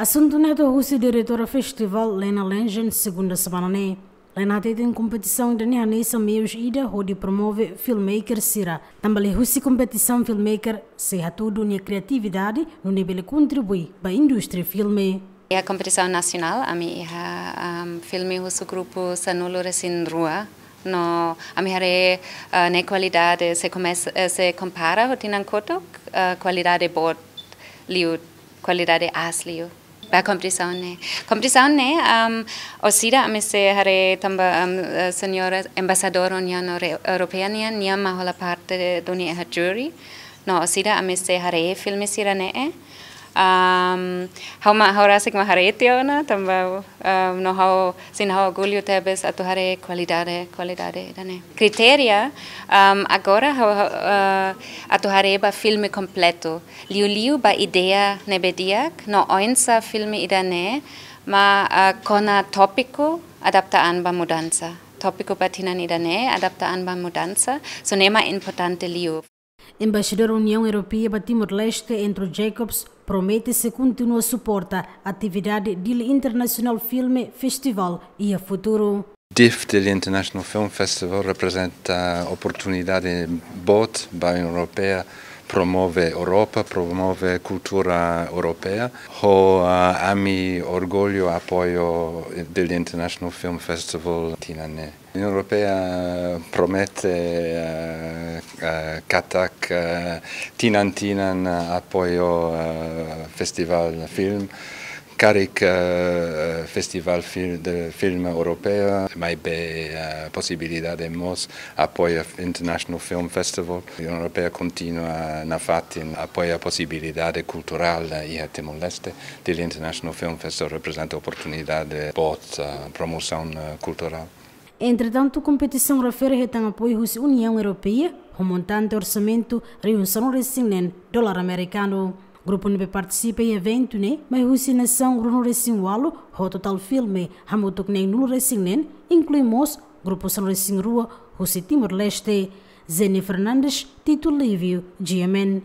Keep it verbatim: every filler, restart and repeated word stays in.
Asuntu ne'e hato'o husi diretora festivál Lena Lengen segunda semana ne'e. Lena hateten kompetisaun ida-ne'e hanesan meius ida hodi promove filmmaker sira. Tanba liuhusi kompetisaun filmmaker sei hatudu nia kriatividade nune'e bele kontribui ba indústria filme. Iha kompetisaun nasionál, ami iha, am, filme husi grupu sanulu-resin-rua. No ami haree, eh, ne'e kualidade se komesa, eh, se kompara ho tinan kotuk, eh, kualidade boot liu, kualidade aas liu. Ba kompetisaun ne'e. Kompetisaun ne'e, am, orsida ami sei haree tanba, am, eh, señora embaixadora Uniaun Euro-, Europeia nian, nia mak hola parte duni iha júri. No orsida ami sei haree filme sira-ne'e. Am, ha'u mak, ha'u rasik mak haree tiha ona, tanba, am, no ha'u, sin ha'u orgullu tebes atu haree kualidade, kualidade ida-ne'e. Kritéria, am, agora ha'u, ha'u, eh, atu haree ba filme kompletu. Liuliu ba ideia ne'ebé di'ak, no oinsá filme ida-ne'e mak, eh, kona tópiku adapta an ba mudansa. Tópiku ba tinan ida-ne'e adapta an ba mudansa, so ne'e mak importante liu. Embaixadór Uniaun Europeia ba Timor-Leste, Andrew Jacobs, promete sei kontinua suporta atividade Dili International Film Festival iha futuru. DIF, Dili International Film Festival, reprezenta oportunidade boot ba Uniaun Europeia promove Europa, promove kultura europeia. Ho, ah, ami orgullu apoiu Dili International Film Festival tinan ne'e. Uniaun Europeia promete, eh, eh, katak, eh, tinan-tinan, eh, apoiu, eh, festivál film. Karik, eh, festivál fil-, de film europeia, maibé, eh, posibilidade mós apoia International Film Festival. Uniaun Europeia kontinua nafatin apoia posibilidade kulturál, eh, iha Timor-Leste. Dili International Film Festival reprezenta oportunidade boot, eh, promosaun, eh, kulturál. Entretantu, kompetisaun refere hetan apoiu husi Uniaun Europeia, ho montante orsamentu rihun sanulu-resin-neen dolar amerikanu. Grupu ne'ebé partisipa iha eventu ne'e mai husi nasaun ruanulu-resin-ualu, ho totál filme hamutuk neenulu-resin-neen, inklui mós grupu sanulu-resin-rua husi Timor-Leste. Jenny Fernandes, Tito Livio, G M N.